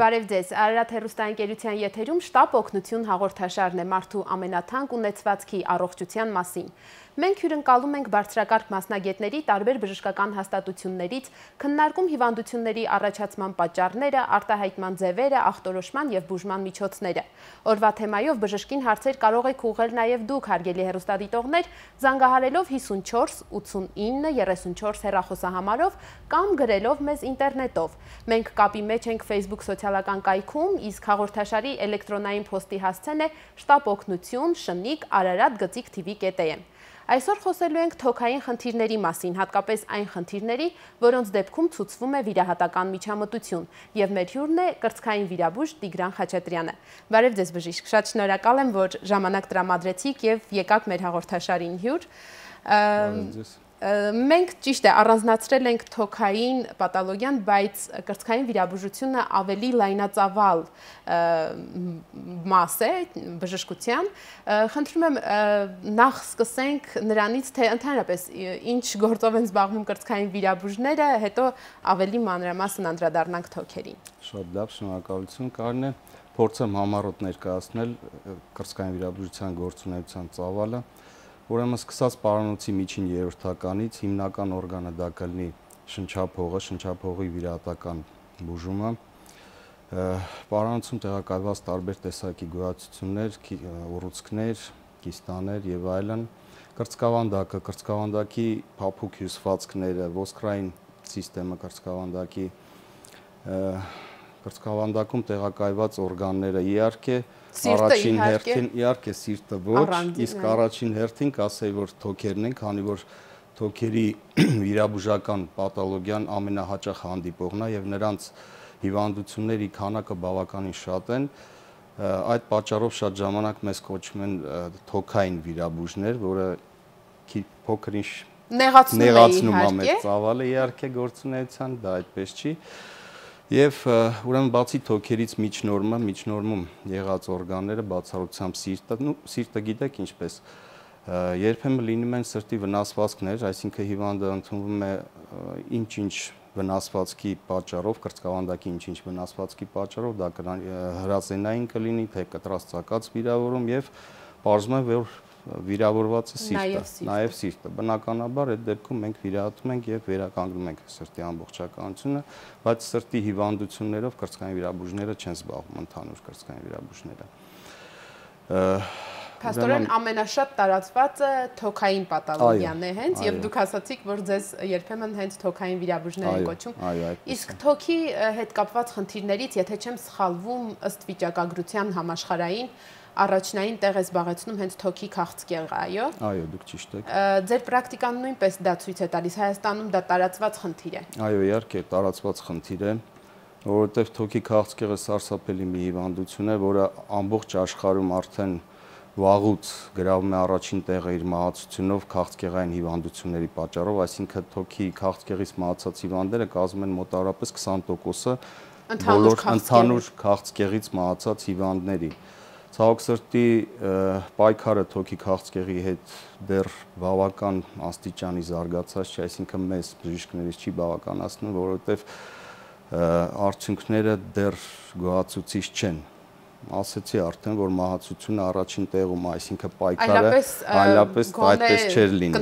Բարև ձեզ, Արարատ հեռուստաընկերության եթերում շտապ օգնություն հաղորդաշարն է մարդու ամենաթանկ ունեցվածքի առողջության մասին։ Մենք հյուրընկալում ենք բարձրակարգ մասնագետների տարբեր բժշկական հաստատություններից, քննարկում հիվանդությունների առաջացման պատճառները, արտահայտման ձևերը, ախտորոշման և բուժման միջոցները։ Օրվա թեմայով բժշկին հարցեր կարող եք ուղղել նաև դուք, հարգելի հեռուստադիտողներ, զանգահարելով 54 89 34 հեռախոսահամարով կամ գրելով մեզ ինտերնետով։ Մենք կապի մեջ ենք Facebook սոցիալական կայքում, իսկ հաղորդաշարի էլեկտրոնային փոստի հասցեն է shtapognutsun@ararat.tv.am։ Այսօր խոսելու ենք թոքային խնդիրների մասին, հատկապես այն խնդիրների, որոնց դեպքում ցուցվում է վիրահատական միջամտություն, եւ մեր հյուրն է կրծքային վիրաբույժ Տիգրան Խաչատրյանը։ Բարև ձեզ բժիշկ, շատ շնորհակալ եմ, որ ժամանակ տրամադրեցիք եւ եկաք մեր հաղորդաշարին հյուր։ Մենք ճիշտ է առանձնացրել ենք թոքային պաթոլոգիան, բայց կրծքային վիրաբուժությունը ավելի լայնածավալ մաս է բժշկության։ Խնդրում եմ նախ սկսենք նրանից, թե ընդհանրապես ինչ գործով են զբաղվում կրծքային վիրաբույժները, հետո ավելի մանրամասն անդրադառնանք թոքերին։ Շատ լավ, շնորհակալություն, Կարեն է, փորձեմ համառոտ ներկայացնել կրծքային վիրաբուժության գործունեության ծավալը։ Ուրեմն սկսած պարանոցի միջին երրորդականից հիմնական օրգանը դա կլինի շնչափողը, շնչափողի վիրահատական բուժումը, պարանոցում տեղակայված տարբեր տեսակի գոյացություններ, ուռուցքներ, կիստաներ եւ այլն, կրծքավանդակը, կրծքավանդակի փափուկ հյուսվածքները, ոսկրային համակարգը կրծքավանդակի, կրծքավանդակում տեղակայված օրգանները, առաջին հերթին իհարկե սիրտը ոչ, իսկ առաջին հերթին կասեի, որ թոքերն են, քանի որ թոքերի վիրաբուժական պաթոլոգիան ամենահաճախ հանդիպողն է եւ նրանց հիվանդությունների քանակը բավականին շատ են, այդ պատճառով շատ ժամանակ մեզ կոչում են թոքային վիրաբույժներ, որը փոքր ինչ նեղացնում է մեր ծավալը իհարկե գործունեության, դա այդպես չի։ Եվ ուրեմն բացի թոքերից միջնորմում եղած օրգանները, բացառությամբ սիրտը գիտեք ինչպես, երբեմն լինում են սրտի վնասվածքներ, այսինքն հիվանդը ընդունվում է ինչ-ինչ վնասվածքի պատճառով, կրծքավանդակի ինչ-ինչ վնասվածքի պատճառով, դա հրազենային կլինի, թե կտրած ծակած վիրավորում եւ պարզվում է, որ վիրավորված է սիրտը, նաև սիրտը։ Բնականաբար այդ դեպքում մենք վիրահատում ենք եւ վերականգնում ենք սրտի ամբողջականությունը, բայց սրտի հիվանդություններով կրծքային վիրաբույժները չեն զբաղվում, ընդհանուր կրծքային վիրաբույժները։ Փաստորեն ամենաշատ տարածվածը թոքային պաթոլոգիան է հենց եւ դուք ասացիք, որ ձեզ երբեմն հենց թոքային վիրաբույժներ են կոչում։ Իսկ թոքի հետ կապված խնդիրներից, եթե չեմ սխալվում, ըստ վիճակագրության համաշխարհային առաջնային տեղ է զբաղեցնում հենց թոքի քաղցկեղը, այո։ Այո, դուք ճիշտ եք։ Ձեր պրակտիկան նույնպես դա ցույց է տալիս, Հայաստանում դա տարածված խնդիր է։ Այո, իհարկե, տարածված խնդիր է, որովհետև թոքի քաղցկեղը սարսափելի մի հիվանդություն է, որը ամբողջ աշխարհում արդեն վաղուց գրավում է առաջին տեղը իր մահացությունով քաղցկեղային հիվանդությունների պատճառով, այսինքն թոքի քաղցկեղից մահացած հիվանդները կազմում են մոտավորապես 20% բոլոր ընդհանուր քաղցկեղից մահացած հիվանդների։ Ցավոք սրտի պայքարը թոքի քաղցկեղի հետ դեռ բավական աստիճանի զարգացած չէ, այսինքն մեզ բժիշկներից չի բավականացնում, որովհետև արդյունքները դեռ գոհացուցիչ չեն։ Ասեցի արդեն, որ մահացությունը առաջին տեղում, այսինքն պայքարը այլապես այդպես չէր լինի։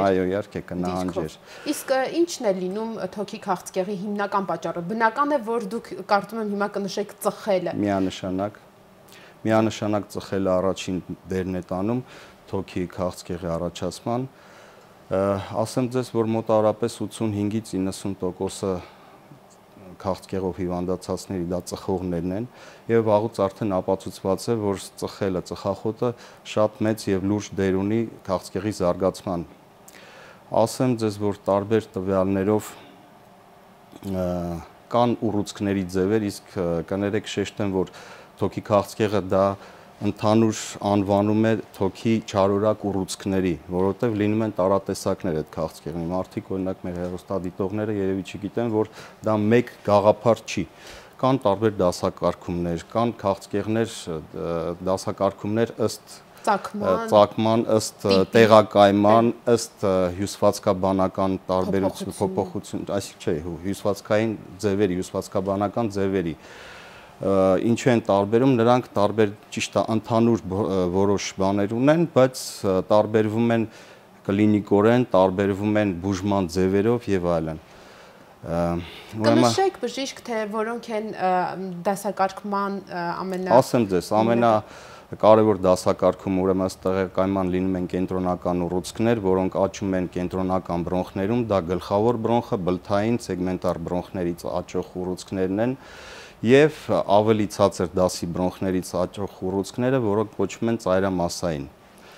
Այո, իհարկե կնահանջեր։ Իսկ ի՞նչն է լինում թոքի քաղցկեղի հիմնական պատճառը։ Բնական է, որ դուք կարծում եմ հիմա կնշեք ծխելը։ Միանշանակ ծխելը առաջին դերն է տանում թոքի քաղցկեղի առաջացման։ Ասեմ ձեզ, որ մոտավորապես 85-ից 90%-ը քաղցկեղով հիվանդացածների դա ծխողներն են եւ վաղուց արդեն ապացուցված է, որ ծխելը, ծխախոտը շատ մեծ եւ լուրջ դեր ունի քաղցկեղի զարգացման։ Ասեմ ձեզ, որ տարբեր տվյալներով կան ուռուցքների ձևեր, իսկ կներեք շեշտեմ, որ թոքի քաղցկեղը դա ընդհանուր անվանում է թոքի չարորակ ուռուցքների, որովհետև լինում են տարատեսակներ այդ քաղցկեղի։ Մարդիկ օրինակ մեր հեռուստադիտողները երևի չգիտեն, որ դա մեկ գաղափար չի։ Կան տարբեր դասակարգումներ, կան քաղցկեղներ, դասակարգումներ ըստ ծագման, ըստ տեղակայման, ըստ հյուսվածքաբանական տարբերություն, փոփոխություն, այսինքն չէ, հյուսվածքային ձևերի, հյուսվածքաբանական ձևերի։ Ինչու են տարբերում, նրանք տարբեր ճիշտ է ընդհանուր որոշ բաներ ունեն, բայց տարբերվում են կլինիկորեն, տարբերվում են բուժման ձևերով եւ այլն։ Կնշեք բժիշկ, թե որոնք են դասակարգման Ասեմ ձեզ, ամենակարևոր դասակարգումը ուրեմն տեղեկայման լինում են կենտրոնական ուռուցքներ, որոնք աճում են կենտրոնական բրոնխներում, դա գլխավոր բրոնխը, բլթային, սեգմենտար բրոնխներից աճող ուռուցքներն են եւ ավելի ցածր դասի բրոնխներից աճող ուռուցքները, որոնք կոչվում են ծայրամասային։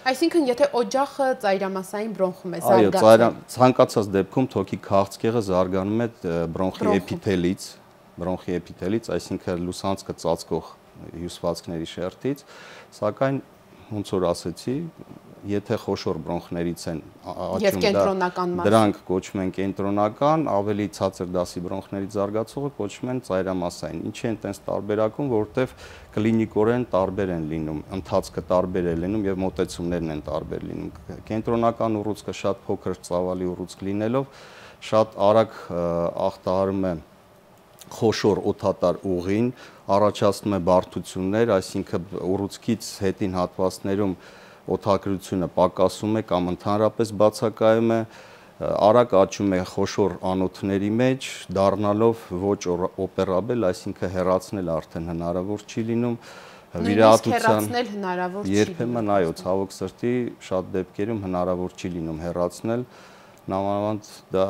Այսինքն, եթե օջախը ծայրամասային բրոնխում է զարգացել։ Այո, ցանկացած դեպքում թոքի քաղցկեղը զարգանում է բրոնխի էպիթելից, այսինքն լուսանցքը ծածկող հյուսվածքների շերտից, սակայն ոնց որ ասեցի, եթե խոշոր բրոնխներից են աճում, դրանք կոչվում են կենտրոնական, ավելի ցածր դասի բրոնխներից զարգացողը կոչվում են ծայրամասային։ Ինչի են տենց տարբերակում, որովհետև կլինիկորեն տարբեր են լինում, ընթացքը տարբեր է լինում եւ մոտեցումներն են տարբեր լինում։ Կենտրոնական ուռուցքը շատ փոքր ծավալի ուռուցք լինելով, շատ արագ ախտահարում է խոշոր օդատար ուղին, առաջացնում է բարդություններ, այսինքն ուռուցքից հետին հատվածներում օդակրությունը պակասում է կամ ընդհանրապես բացակայում է, արագ աճում է խոշոր անոթների մեջ, դառնալով ոչ օպերաբել, այսինքն հեռացնել արդեն հնարավոր չի լինում, վիրահատության հնարավոր չի։ Երբեմն այո, ցավոք սրտի շատ դեպքերում հնարավոր չի լինում հեռացնել, նամանավանդ դա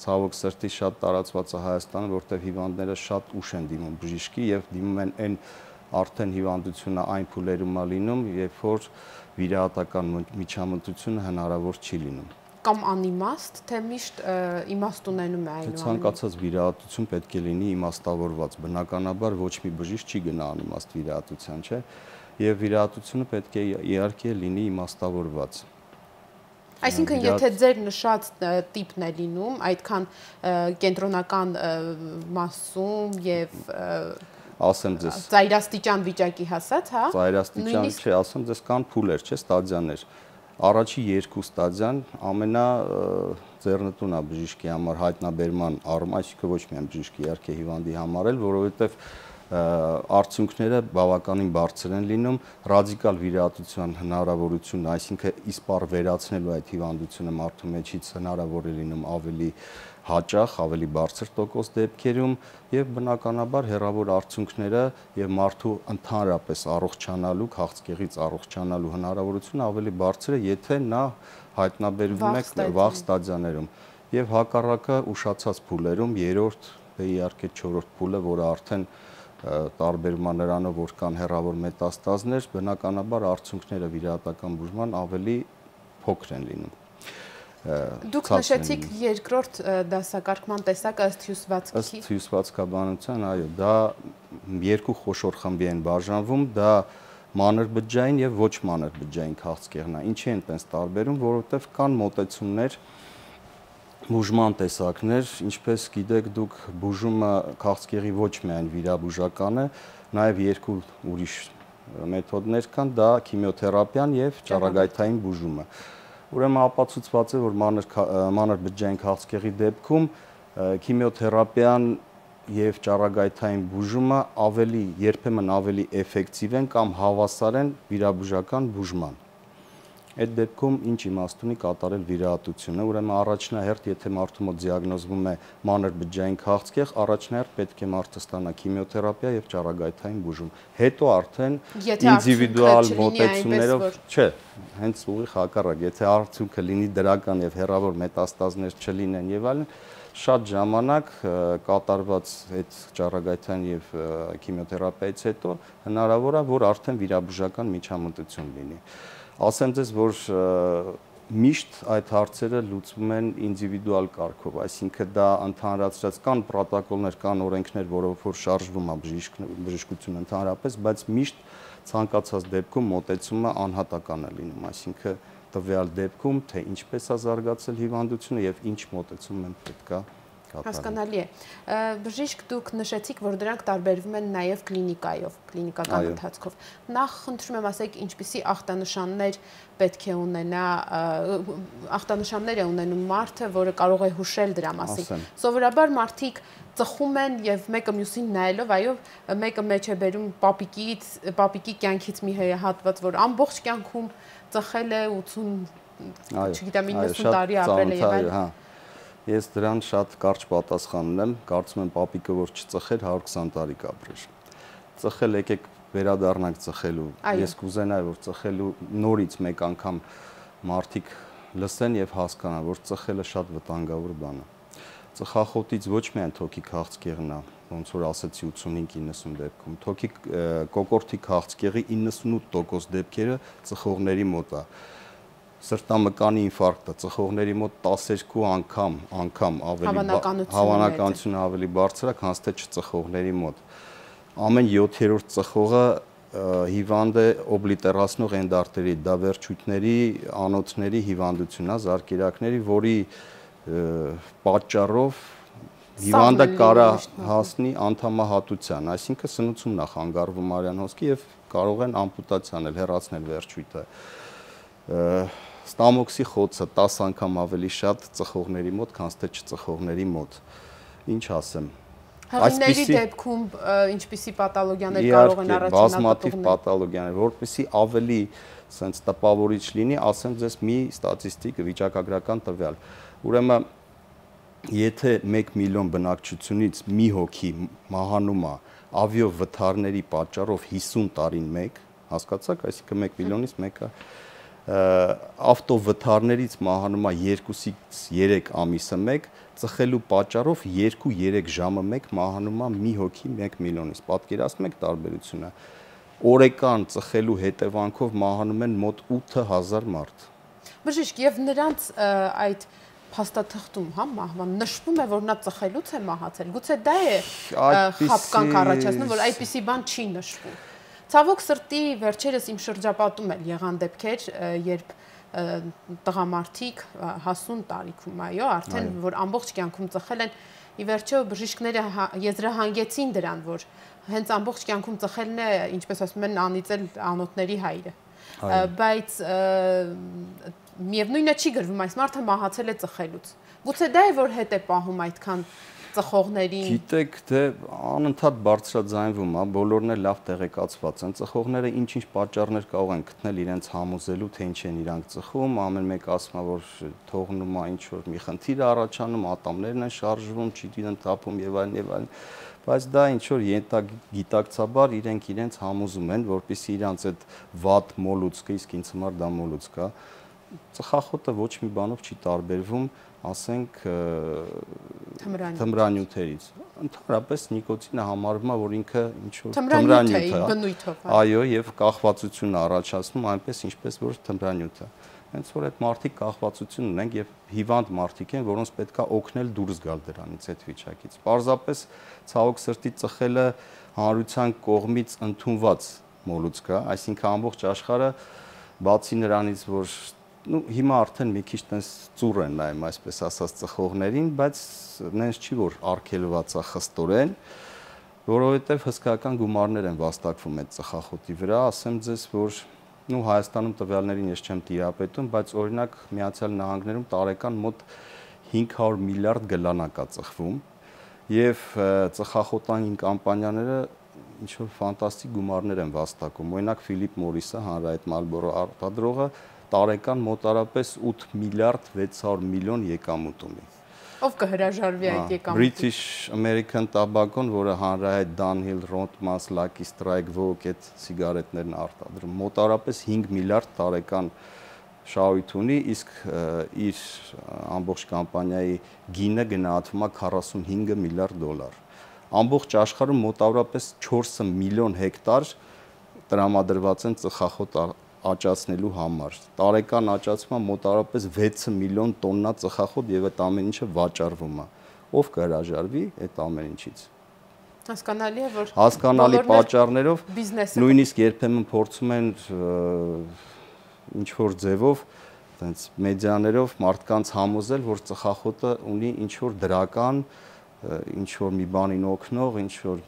ցավոք սրտի շատ տարածված է Հայաստանում, որտեղ հիվանդները շատ ուշ են դիմում բժիշկի եւ դիմում են այն արդեն հիվանդությունը այն փուլերում է լինում, երբ որ վիրահատական միջամտությունը հնարավոր չի լինում։ Կամ անիմաստ, թե միշտ իմաստ ունենում է այնուամենայնիվ։ Ցանկացած վիրահատություն պետք է լինի իմաստավորված։ Բնականաբար ոչ մի բժիշկ չի գնա անիմաստ վիրահատության, չէ՞։ Եվ վիրահատությունը պետք է իհարկե լինի իմաստավորված։ Այսինքն, եթե ձեր նշած տիպն է լինում, այդքան կենտրոնական մասում եւ ասեմ ձեզ ծայրաստիճան վիճակի հասած, հա? Ծայրաստիճան չէ, ասեմ ձեզ կան փուլեր, չէ, ստադիաներ։ Առաջի երկու ստադիան ամենաձեռնտուն է բժիշկի համար հայտնաբերման առում, այսինքն ոչ միայն բժիշկի, իհարկե հիվանդի համար էլ, որովհետեւ արդյունքները բավականին բարձր են լինում, ռադիկալ վիրահատության հնարավորությունը, այսինքն իսպառ վերացնելու այդ հիվանդությունը մարդու մեջից հնարավոր է լինում ավելի հաճախ, ավելի բարձր տոկոս դեպքերում եւ բնականաբար հեռավոր արդյունքները եւ մարդու ընդհանրապես առողջանալու, քաղցկեղից առողջանալու հնարավորությունը ավելի բարձր է, եթե նա հայտնաբերվում է վաղ ստադիաներում եւ հակառակը ուշացած փուլերում, երրորդ, իհարկե չորրորդ փուլը, որը արդեն տարբերում է նրանով, որ կան հեռավոր մետաստազներ, բնականաբար արդյունքները վիրահատական բուժման ավելի փոքր են լինում։ Դուք նշեցիք երկրորդ դասակարգման տեսակը ըստ հյուսվածքի։ Ըստ հյուսվածքաբանության, այո, դա երկու խոշոր խմբի են բաժանվում, դա մանրբջջային եւ ոչ մանրբջջային քաղցկեղն է։ Ինչի են տենց տարբերում, որովհետեւ կան մոտեցումներ, բուժման տեսակներ, ինչպես գիտեք դուք, բուժումը քաղցկեղի ոչ միայն վիրաբուժական է, նաև երկու ուրիշ մեթոդներ կան, դա քիմիոթերապիան եւ ճառագայթային բուժումը։ Ուրեմն ապացուցված է, որ մանրբջջային քաղցկեղի դեպքում քիմիոթերապիան եւ ճառագայթային բուժումը երբեմն ավելի էֆեկտիվ են կամ հավասար են վիրաբուժական բուժման։ Այդ դեպքում ինչ իմաստ ունի կատարել վիրահատությունը, ուրեմն առաջնահերթ, եթե մարդու մոտ դիագնոզվում է մանրբջջային քաղցկեղ, առաջնահերթ պետք է մարդը ստանա քիմիոթերապիա եւ ճառագայթային բուժում։ Հետո արդեն ինդիվիդուալ մոտեցումներով, չէ, հենց ուղիղ հակառակ, եթե արդյունքը լինի դրական եւ հեռավոր մետաստազներ չլինեն եւ այլն, շատ ժամանակ կատարված այդ ճառագայթային եւ քիմիոթերապիայից հետո հնարավոր է, որ արդեն վիրաբուժական միջամտություն լինի։ Ասեմ ձեզ, որ միշտ այդ հարցերը լուծվում են ինդիվիդուալ կարգով, այսինքն դա ընդհանրացրած կան պրոտոկոլներ, կան օրենքներ, որով որ շարժվում է բժշկությունը ընդհանրապես, բայց միշտ ցանկացած դեպքում մոտեցումը անհատական է լինում, այսինքն տվյալ դեպքում թե ինչպես է զարգացել հիվանդությունը եւ ինչ մոտեցում են պետքա Հասկանալի է։ Բժիշկ, դուք նշեցիք, որ դրանք տարբերվում են նաև կլինիկայով, կլինիկական ընթացքով։ Նախ խնդրում եմ ասեք, ինչպիսի ախտանշաններ պետք է ունենա, ախտանշաններ է ունենում մարդը, որը կարող է հուշել դրա մասին։ Սովորաբար մարդիկ ծխում են եւ մեկը մյուսին նայելով, այո, մեկը մեջ է բերում պապիկի կյանքից մի հատված, որ ամբողջ կյանքում ծխել է 80, չգիտեմ, 90 տարի ապրել է եւ այլն։ Ես դրան շատ կարճ պատասխան ունեմ, կարծում եմ պապիկը որ չծխեր 120 տարի կապրեր։ Ծխել եկեք վերադառնանք ծխելու։ Ես կուզենայի որ ծխելու նորից մեկ անգամ մարդիկ լսեն եւ հասկանան, որ ծխելը շատ վտանգավոր բան է։ Ծխախոտից ոչ միայն թոքի քաղցկեղն է, ոնց որ ասացի 85-90 դեպքում, թոքի կոկորդի քաղցկեղի 98% դեպքերը ծխողների մոտ է։ Սրտամկանի ինֆարկտը ծխողների մոտ 12 անգամ ավելի հավանականությունը ավելի բարձր է, քան թե չծխողների մոտ։ Ամեն 7-րդ ծխողը հիվանդ է օբլիտերացնող էնդարտերիտ, դա վերջույթների, անոթների հիվանդություն է, զարկերակների, որի պատճառով հիվանդը կարա հասնի անդամահատության, այսինքն սնուցումն է խանգարվում արյան հոսքի եւ կարող են ամպուտացիա անել, հեռացնել վերջույթը։ Ստամոքսի խոցը 10 անգամ ավելի շատ ծխողների մոտ, քան թե չծխողների մոտ։ Ինչ ասեմ։ Հղիների դեպքում ինչպիսի պաթոլոգիաներ կարող են առաջանալ։ Բազմաթիվ պաթոլոգիաներ, որպեսզի ավելի sense տպավորիչ լինի, ասեմ ձեզ մի ստատիստիկ վիճակագրական տվյալ։ Ուրեմն եթե 1 միլիոն բնակչությունից մի հոգի մահանում է ավիովթարների պատճառով 50 տարին մեկ, հասկացաք, այսինքն 1 միլիոնից մեկը ավտովթարներից մահանում է 2-ից 3 ամիսը մեկ, ծխելու պատճառով 2-3 ժամը մեկ մահանում է մի հոգի 1 միլիոնից։ Պատկերացնում եք տարբերությունը։ Օրեկան ծխելու հետևանքով մահանում են մոտ 8000 մարդ։ Բժիշկ, եւ նրանց այդ փաստաթղթում, հա, մահվան նշվում է, որ նա ծխելուց է մահացել։ Գուցե դա է խաբկանք առաջացնում, որ այդպիսի բան չի նշվում։ Ցավոք սրտի վերջերս իմ շրջապատում էլ եղան դեպքեր, երբ տղամարդիկ հասուն տարիքում, այո, արդեն որ ամբողջ կյանքում ծխել են, ի վերջո բժիշկները եզրահանգեցին դրան, որ հենց ամբողջ կյանքում ծխելն է, ինչպես ասում են, անիծել անոթների հայրը։ Բայց միևնույնը չի գրվում, այս մարդը մահացել է ծխելուց։ Գուցե դա է, որ հետ է պահում այդքան ծխողներին։ Գիտեք, դե անընդհատ բարձրաձայնվում է, բոլորն էլ լավ տեղեկացված են։ Ծխողները ինչ-ինչ պատճառներ կարող են գտնել իրենց համոզելու, թե ինչ են իրանք ծխում, ամեն մեկ ասում է, որ թողնում է ինչ որ մի խնդիր առաջանում, ատամներն են շարժվում, ճիտին թափում եւ այլն, բայց դա ինչ որ գիտակցաբար իրենց համոզում են, որպեսզի իրանց այդ վատ մոլուցքը, իսկ ինձ համար դա մոլուցք է, ծխախոտը ոչ մի բանով չի տարբերվում, ասենք թմրանյութերից։ Ընդհանրապես նիկոտինը համարվում է, որ ինքը ինչ որ թմրանյութ է, այո, եւ կախվածություն առաջացնում այնպես ինչպես որ թմրանյութը։ Հենց որ այդ մարդիկ կախվածություն ունեն եւ հիվանդ մարդիկ են, որոնց պետքա օգնել դուրս գալ դրանից այդ վիճակից։ Պարզապես ցավոք սրտի ծխելը հանրության կողմից ընդունված մոլուցք է, այսինքն ամբողջ աշխարհը բացի նրանից, որ հիմա արդեն մի քիչ տես ծուռ են նայում, այսպես ասած ծխողներին, բայց նենց չի որ արգելված է խստորեն, որովհետև հսկայական գումարներ են վաստակվում այդ ծխախոտի վրա, ասեմ ձեզ, որ Հայաստանում տվյալներին ես չեմ տիրապետում, բայց օրինակ Միացյալ Նահանգներում տարեկան մոտ 500 միլիարդ գլանա կա ծխվում եւ ծխախոտային կամպանիաները ինչ որ ֆանտաստիկ գումարներ են վաստակում։ Օրինակ Ֆիլիպ Մորիսը, հանրայիտ Մալբորո արտադրողը տարեկան մոտարապես 8 միլիարդ 600 միլիոն եկամուտ ունի։ Ով կհրաժարվի այդ եկամուտից։ British American Tobacco-ն, որը հանրահայտ Dunhill, Rothmans, Lucky Strike, Vogue այդ սիգարետներն արտադրում, մոտարապես 5 միլիարդ տարեկան շահույթ ունի, իսկ իր ամբողջ կամպանիայի գինը գնահատվում է 45 միլիարդ դոլար։ Ամբողջ աշխարհում մոտավորապես 4 միլիոն հեկտար տրամադրված են ծխախոտ աճացնելու համար։ Տարեկան աճացումը մոտավորապես 6 միլիոն տոննա ծխախոտ եւ այդ ամեն ինչը վաճառվում է։ Ով կհրաժարվի այդ ամեն ինչից։ Հասկանալի է, որ հասկանալի պատճառներով նույնիսկ երբեմն փորձում են ինչ որ ձևով տենց մեդիաներով մարդկանց համոզել, որ ծխախոտը ունի ինչ-որ դրական, ինչ-որ մի բանին օգնող, ինչ-որ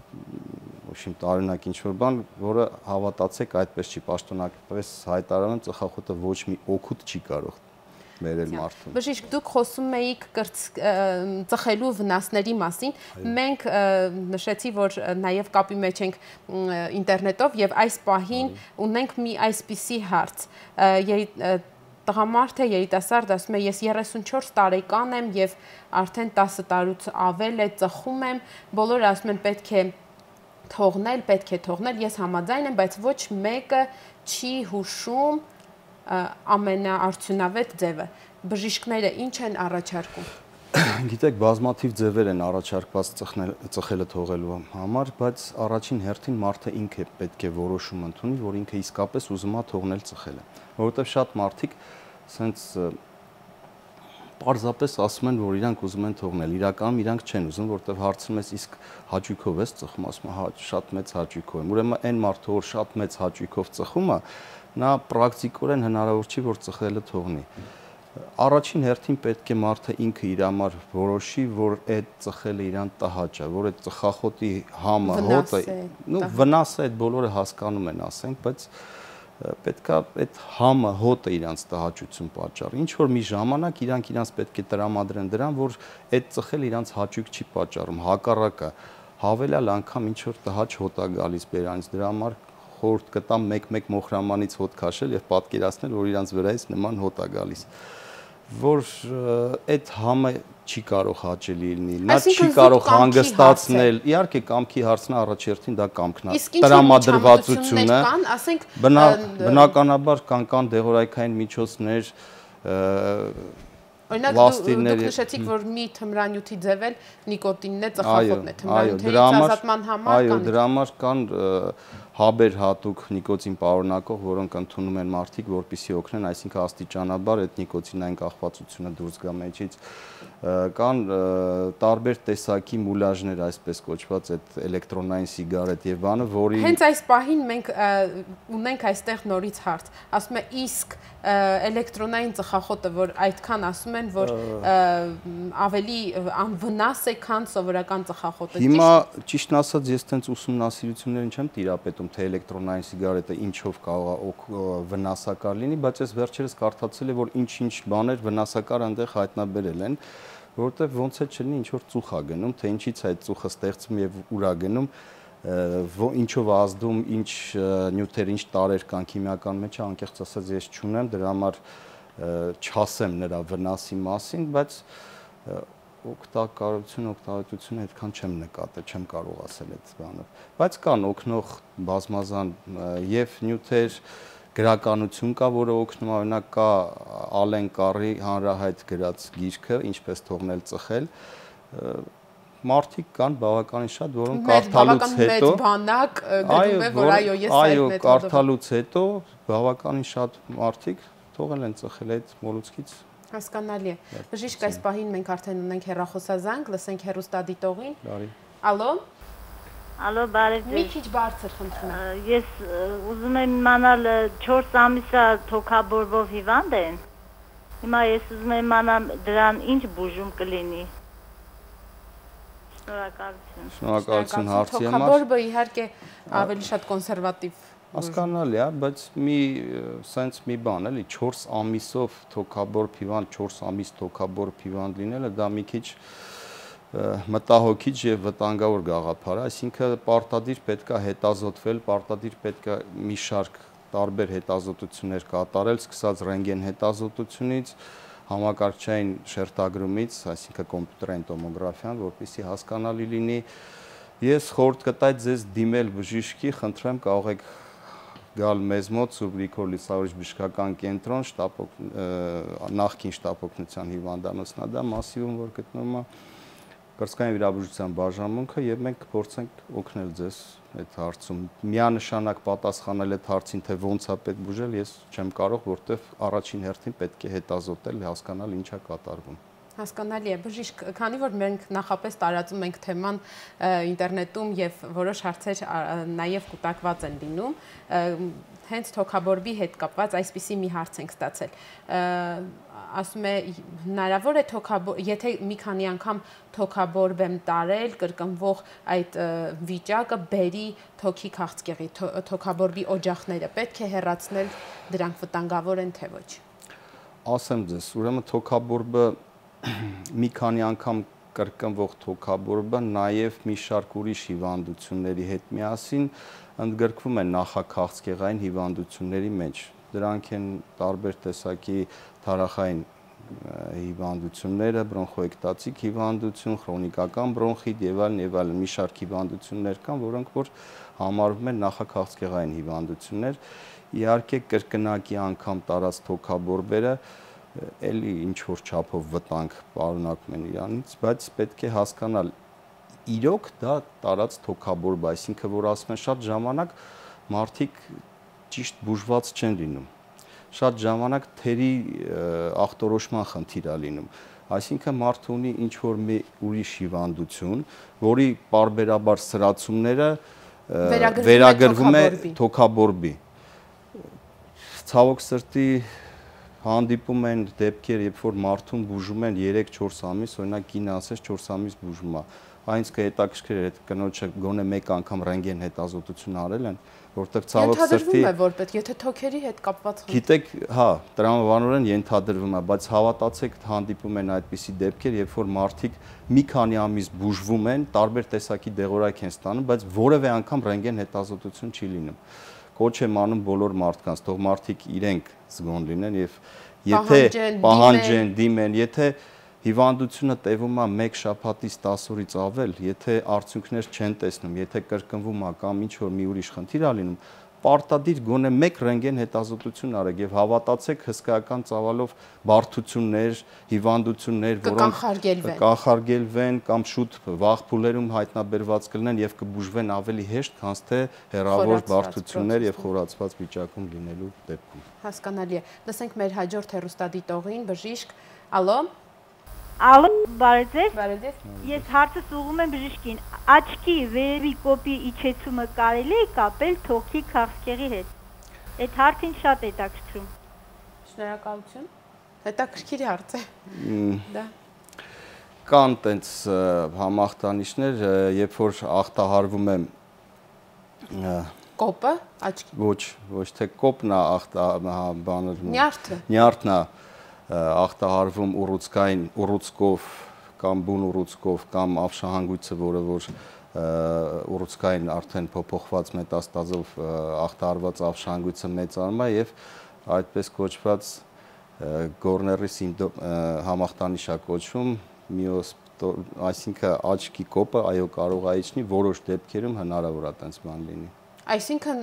տարօրինակ ինչ-որ բան, որը հավատացեք այդպես չի, պաշտոնապես հայտարարում ծխախոտը ոչ մի օգուտ չի կարող բերել մարդուն։ Բժիշկ, դուք խոսում էիք ծխելու վնասների մասին, մենք նշեցի, որ նաև կապի մեջ ենք ինտերնետով եւ այս պահին ունենք մի այսպիսի հարց, տղամարդ է, երիտասարդ, ասում է, ես 34 տարեկան եմ եւ արդեն 10 տարուց ավել է ծխում եմ, բոլորը ասում են պետք է թողնել, ես համաձայն եմ, բայց ոչ մեկը չի հուշում ամենաարդյունավետ ձևը։ Բժիշկները ինչ են առաջարկում։ Գիտեք, բազմաթիվ ձևեր են առաջարկված ծխելը թողելու համար, բայց առաջին հերթին մարդը ինքը պետք է որոշում ընդունի, որ ինքը իսկապես ուզում է թողնել ծխելը, որովհետև շատ մարդիկ սենց պարզապես ասում են, որ իրանք ուզում են թողնել, իրականում իրանք չեն ուզում, որովհետև հարցնում ես իսկ հաճույքով ես ծխում, ասում է, հա, շատ մեծ հաճույքով եմ։ Ուրեմն այն մարդը, որ շատ մեծ հաճույքով ծխում է, նա պրակտիկորեն հնարավոր չի, որ ծխելը թողնի։ Առաջին հերթին պետք է մարդը ինքը իր համար որոշի, որ այդ ծխելը իրան տհաճ է, որ այդ ծխախոտի համը, հոտը, վնաս է, այդ բոլորը հասկանում են, ասենք, բայց պետք է այդ համը, հոտը իրանց տհաճություն պատճառի։ Ինչ որ մի ժամանակ իրանք իրանց պետք է տրամադրեն դրան, որ այդ ծխելը իրանց հաճույք չի պատճառում, հակառակը հավելյալ անգամ ինչ որ տհաճ հոտ է գալիս բերանից, դրա համար խորհուրդ կտամ մեկ-մեկ մոխրամանից հոտ քաշել եւ պատկերացնել, որ իրանց վրայից նման հոտ է գալիս, որ այդ համը չի կարող հաճելի լինի, նա չի կարող հանգստացնել, իհարկե կամքի հարցն առաջերտին դա կամքն է, տրամադրվածությունը, բնականաբար կան դեղորայքային միջոցներ, օրինակ դուք նշեցիք, որ մի թմրանյութի ձև էլ նիկոտինն է, ծխախոտն է, թմրանյութերից ազատման համար կան։ Այո, դրա համար կան հաբեր հատուկ նիկոտին պարունակող, որոնք ընդունում են մարդիկ, որպեսզի օգնեն, այսինքն աստիճանաբար այդ նիկոտինային կախվածությունը դուրս գա մեջից։ Կան տարբեր տեսակի մուլաժներ, այսպես կոչված, այդ էլեկտրոնային սիգարետ եւ բանը, որի հենց այս պահին մենք ունենք այստեղ նորից հարց։ Ասում է իսկ էլեկտրոնային ծխախոտը, որ այդքան ասում են, որ ավելի անվնաս է, քան սովորական ծխախոտը։ Հիմա ճիշտն ասած ես տենց ուսումնասիրություններ չեմ տիրապետում, թե էլեկտրոնային սիգարետը ինչով կարող է վնասակար լինի, բայց ես վերջերս կարդացել եմ, որ ինչ-ինչ բաներ վնասակար այնտեղ հայտնաբերել են, որովհետև ոնց է չլինի ինչ որ ծուխ է գնում, թե ինչից է այդ ծուխը ստեղծվում եւ ուր է գնում, ինչով է ազդում, ինչ նյութեր, ինչ տարեր կան քիմիական մեջ, անկեղծ ասած ես չունեմ, դրա համար չասեմ նրա վնասի մասին, բայց օգտակարությունը այդքան չեմ նկատել, չեմ կարող ասել այդ բանը, բայց կան օգնող բազմազան եւ նյութեր, գրականություն կա, որը օգնում է, օրինակ կա Ալեն Կարի հանրահայտ գրած գիրքը, ինչպես թողնել ծխել, մարդիկ կան բավականին շատ, որոնք կարդալուց հետո բանակ գրում է, որ այո, ես այդ մեթոդով կարդալուց հետո բավականին շատ մարդիկ թողել են ծխել այդ մոլուցքից։ Հասկանալի է։ Բժիշկ, այս պահին մենք արդեն ունենք հեռախոսազանգ, լսենք հեռուստադիտողին։ Ալո։ Ալո, բարև ձեզ։ Մի քիչ բարձր խնդրում եմ։ Ես ուզում եմ իմանալ 4 ամիսա թոքաբորբով հիվանդ են։ Հիմա ես ուզում եմ իմանալ դրան ինչ բուժում կլինի։ Շնորհակալություն։ Շնորհակալություն հարցի համար։ Թոքաբորբը իհարկե ավելի շատ կոնսերվատիվ հասկանալի է, բայց սենց մի բան էլի 4 ամիսով թոքաբորբ հիվանդ, 4 ամիս թոքաբորբ հիվանդ լինելը դա մի քիչ մտահոգիչ եւ վտանգավոր գաղափար է, այսինքն պարտադիր պետք է հետազոտվել, պարտադիր պետք է մի շարք տարբեր հետազոտություններ կատարել, սկսած ռենտգեն հետազոտությունից, համակարգչային շերտագրումից, այսինքն կոմպյուտերային տոմոգրաֆիան, որպեսզի հասկանալի լինի։ Ես խորհուրդ կտայի ձեզ դիմել բժշկի, խնդրեմ կարող եք գալ մեզ մոտ Սուրբ Գրիգոր Լիսավորիչ բժշկական կենտրոն, նախկին շտապ օգնության հիվանդանոցն է դա մասիվում, որ գտնվում է կրծքային վիրաբուժության բաժանմունքը եւ մենք կփորձենք օգնել ձեզ այդ հարցում։ Միանշանակ պատասխանել այդ հարցին, թե ոնց է պետք բուժել, ես չեմ կարող, որտեվ առաջին հերթին պետք է հետազոտել, հասկանալ ինչ է կատարվում։ Հասկանալի է, բժիշկ, քանի որ մենք նախապես տարածում ենք թեման ինտերնետում եւ որոշ հարցեր նաեւ կուտակված են լինում, հենց թոքաբորբի հետ կապված այսպիսի մի հարց ենք ստացել։ Ասում է հնարավոր է եթե մի քանի անգամ թոքաբորբ եմ տարել, կրկնվող այդ վիճակը բերի թոքի քաղցկեղի, թոքաբորբի օջախները պետք է հեռացնել, դրանք վտանգավոր են թե ոչ։ Ասեմ ձեզ, ուրեմն թոքաբորբը մի քանի անգամ կրկնվող թոքաբորբը նաև մի շարք ուրիշ հիվանդությունների հետ միասին ընդգրկվում են նախաքաղցկեղային հիվանդությունների մեջ։ Դրանք են տարբեր տեսակի թարախային հիվանդությունները, բրոնխոէկտատիկ հիվանդություն, քրոնիկական բրոնխիտ եւ այլն, մի շարք հիվանդություններ կան, որոնք որ համարվում են նախաքաղցկեղային հիվանդություններ։ Իհարկե կրկնակի անգամ տարած թոքաբորբերը էլի ինչ որ չափով վտանգ պարունակում են իրանից, բայց պետք է հասկանալ իրոք դա տարած թոքաբորբ, այսինքն որ ասում են շատ ժամանակ մարդիկ ճիշտ բուժված չեն լինում, շատ ժամանակ թերի ախտորոշման խնդիր է լինում, այսինքն մարդը ունի ինչ որ մի ուրիշ հիվանդություն, որի պարբերաբար սրացումները վերագրվում է թոքաբորբի։ Ցավոք սրտի հանդիպում են դեպքեր, երբ որ մարդուն բուժում են 3-4 ամիս, օրինակ կինը ասես 4 ամիս բուժում է։ Այնց կհետաքրքիր է, կնոջը գոնե մեկ անգամ ռենտգեն հետազոտություն արել են, որտեղ ցավոք սրտի ենթադրվում է որպես, եթե թոքերի հետ կապված խնդիր։ Գիտեք, հա, տրամաբանորեն ենթադրվում է, բայց հավատացեք, հանդիպում են այդպիսի դեպքեր, երբ որ մարդիկ մի քանի ամիս բուժվում են, տարբեր տեսակի դեղորայք են ստանում, բայց որևէ անգամ ռենտգեն հետազոտություն չի լինում։ Կոչ եմ անում բոլոր մարդկանց, թող մարդիկ իրենք զգոն լինեն եւ եթե պահանջեն, դիմեն, եթե հիվանդությունը տևում է 1 շաբաթից 10 օրից ավել, եթե արդյունքներ չեն տեսնում, եթե կրկնվում է կամ ինչ որ մի ուրիշ խնդիր է լինում, պարտադիր գոնե 1 ռենտգեն հետազոտություն արեք եւ հավատացեք հսկայական ծավալով բարդություններ, հիվանդություններ, որոնք կանխարգելվեն կամ շուտ վաղ փուլերում հայտնաբերված կլինեն եւ կբուժվեն ավելի հեշտ, քան թե հեռավոր բարդություններ եւ խորացված վիճակում լինելու դեպքում։ Հասկանալի է։ Լսենք մեր հաջորդ հեռուստադիտողին, բժիշկ։ Ալո։ Ալո, բարև։ Բարև։ Ես հարցս ուղղում եմ բժշկին։ Աչքի վերևի կոպի իջեցումը կարելի է կապել թոքի քաղցկեղի հետ։ Այդ հարցին շատ հետաքրքրում։ Շնորհակալություն։ Հետաքրքիր հարց է։ Դա կան տենց համախտանիշներ, երբ որ ախտահարվում է կոպը, աչքի։ Ոչ թե կոպն է նյարդն է ախտահարվում ուռուցքով կամ բուն ուռուցքով կամ ավշահանգույցը, որը որ ուռուցքային արդեն փոփոխված մետաստազով ախտահարված ավշահանգույցը մեծանում է եւ այդպես կոչված Գորների համախտանիշ է կոչվում, այսինքն աչքի կոպը այո կարող է իջնի, որոշ դեպքերում հնարավոր է այդպես բան լինի։ Այսինքն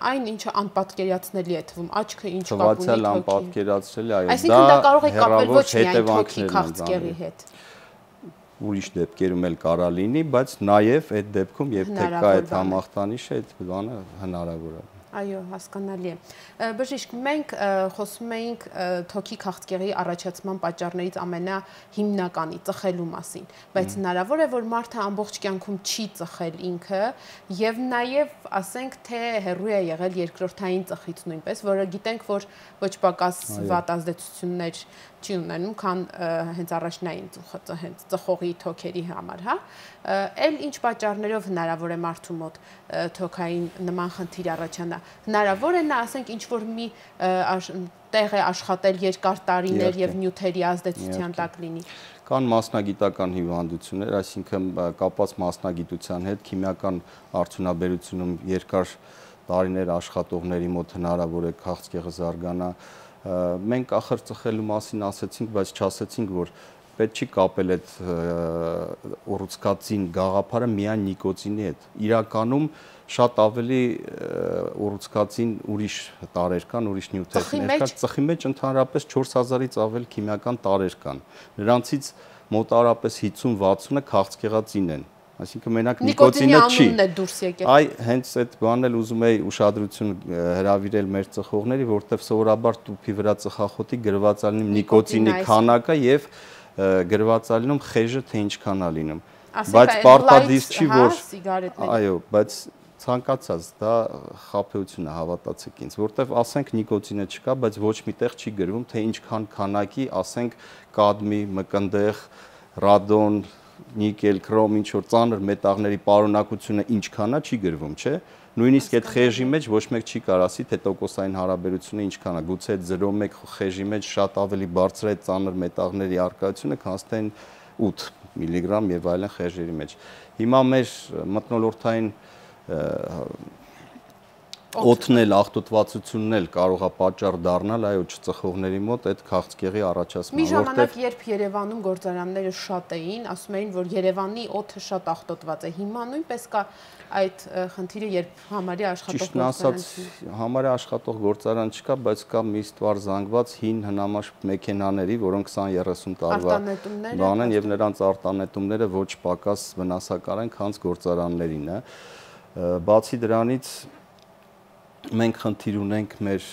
այն ինչը անպատկերացնելի է թվում, աչքը ինչ կապ ունի թվացել անպատկերացրելի, այո, այսինքն դա կարող է կապել ոչ միայն թոքի քաղցկեղի հետ։ Ուրիշ դեպքերում էլ կարա լինի, բայց նաև այդ դեպքում երբ թե կա այդ համախտանիշը, այդ բանը հնարավոր է։ Այո, հասկանալի է։ Բժիշկ, մենք խոսում էինք թոքի քաղցկեղի առաջացման պատճառներից ամենահիմնականի ծխելու մասին, բայց հնարավոր է, որ մարդը ամբողջ կյանքում չի ծխել ինքը եւ նաեւ ասենք թե հեռու է եղել երկրորդային ծխից նույնպես, որը գիտենք, որ ոչ պակաս վատ ազդեցություններ չի ունենում, քան հենց առաջնային ծխողի թոքերի համար, հա։ Էլ ինչ պատճառներով հնարավոր է մարդու մոտ թոքային նման խնդիր առաջանա։ Հնարավոր է նա, ասենք, ինչ որ մի տեղ է աշխատել երկար տարիներ եւ նյութերի ազդեցության տակ լինի։ Կան մասնագիտական հիվանդություններ, այսինքն կապված մասնագիտության հետ, քիմիական արդյունաբերությունում երկար տարիներ աշխատողների մոտ հնարավոր է քաղցկեղը զարգանա։ Մենք ախր ծխելու մասին ասեցինք, բայց չասեցինք, որ պետք չի կապել այդ ուռուցքածին գաղափարը միայն նիկոտինի հետ։ Իրականում շատ ավելի ուռուցքածին ուրիշ տարեր կան, ուրիշ նյութեր կան։ Ծխի մեջ ընդհանրապես 4000-ից ավել քիմիական տարեր կան։ Նրանցից մոտավորապես 50-60-ը քաղցկեղածին են։ Այսինքն մենակ նիկոտինը չի։ Այ հենց այդ բանն էլ ուզում էի ուշադրություն հրավիրել մեր ծխողների, որտեղ սովորաբար տուփի վրա ծխախոտի գրված է նիկոտինի քանակը եւ գրված է լինում խեժը թե ինչքան է լինում։ Բայց պարտադիր չի, որ այո, բայց ցանկացած դա խաբեություն է, հավատացեք ինձ, որտեվ ասենք նիկոտինը չկա, բայց ոչ միտեղ չի գրվում, թե ինչքան քանակի, ասենք կադմի, մկնդեղ, ռադոն, նիկել, քրոմ, ինչ որ ծանր մետաղների պարունակությունը ինչքան է, չի գրվում, չէ՞։ Նույնիսկ այդ խեժի մեջ ոչ մեկ չի կարող ասի, թե տոկոսային հարաբերությունը ինչքան է, գուցե այդ 0.1 խեժի մեջ շատ ավելի բարձր է ծանր մետաղների առկայությունը, քան թե 8 միլիգրամ եւ այլն խեժերի մեջ։ Հիմա մեր մթնոլորտային օդն էլ աղտոտվածությունն էլ կարող է պատճառ դառնալ այո չծխողների մոտ այդ քաղցկեղի առաջացման։ Մի ժամանակ երբ Երևանում գործարանները շատ էին, ասում էին, որ Երևանի օդը շատ աղտոտված է։ Հիմա նույնպես կա այդ խնդիրը, երբ համարյա աշխատող գործարան չի։ Համարյա աշխատող գործարան չկա, բայց կա մի ստվար զանգված հին հնամաշ մեքենաների, որոնք 20-30 տարվա բան են եւ նրանց արտանետումները ոչ պակաս վնասակար են, քան գործարաններին է։ Բացի դրանից մենք խնդիր ունենք մեր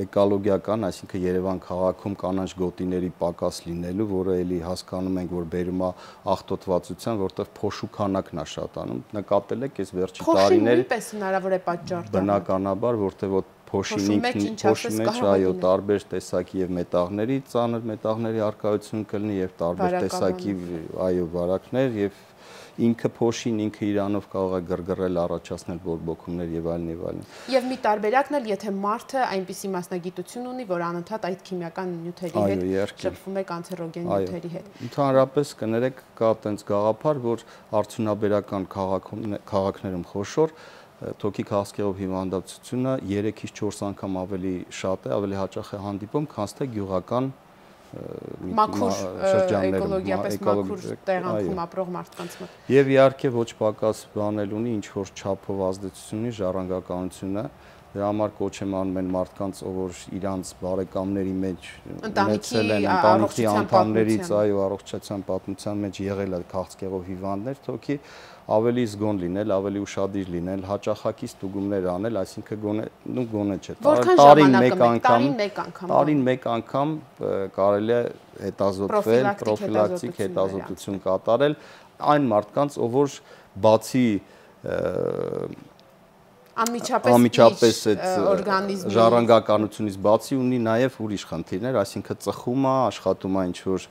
էկոլոգիական, այսինքն Երևան քաղաքում կանաչ գոտիների պակաս լինելու, որը էլի հասկանում ենք, որ բերում է աղտոտվածության, որտեղ փոշու քանակն է շատանում։ Նկատել եք այս վերջի տարիների պես հնարավոր է պատճառ դառնալ։ Բնականաբար, որտեղ փոշի մեջ այո տարբեր տեսակի եւ մետաղների, ծանր մետաղների առկայություն կլինի եւ տարբեր տեսակի այո վարակներ եւ ինքը փոշին ինքը իրանով կարող է գրգռել, առաջացնել բորբոքումներ եւ այլն եւ այլն։ Եւ մի տարբերակն էլ, եթե մարդը այնպիսի մասնագիտություն ունի, որ անընդհատ այդ քիմիական նյութերի հետ շփվում է կանցերոգեն նյութերի հետ։ Ընդհանրապես կներեք կա այդպես գաղափար, որ արդյունաբերական քաղաքներում խոշոր թոքի քաղցկեղով հիվանդացությունը 3-ից 4 անգամ ավելի շատ է, ավելի հաճախ է հանդիպում, քան թե գյուղական մաքուր էկոլոգիապես մաքուր տեղանքում ապրող մարդկանց մոտ։ Եվ իհարկե ոչ պակաս բանել ունի ինչ որ չափով ազդեցություն ունի ժառանգականությունը։ Դրա համար կոչ եմ անում են մարդկանց, որ իրանց բարեկամների մեջ ունեցել են ընտանիքի անդամներից, այո, առողջության պատմության մեջ եղել է քաղցկեղով հիվանդներ, թոքի ավելի զգոն լինել, ավելի ուշադիր լինել, հաճախակի ստուգումներ անել, այսինքն գոնե չէ, տարին մեկ անգամ կարելի է հետազոտվել, պրոֆիլակտիկ հետազոտություն կատարել այն մարդկանց, ով որ բացի անմիջապես այդ ժառանգականությունից բացի ունի նաև ուրիշ խնդիրներ, այսինքն ծխում է, աշխատում է ինչ-որ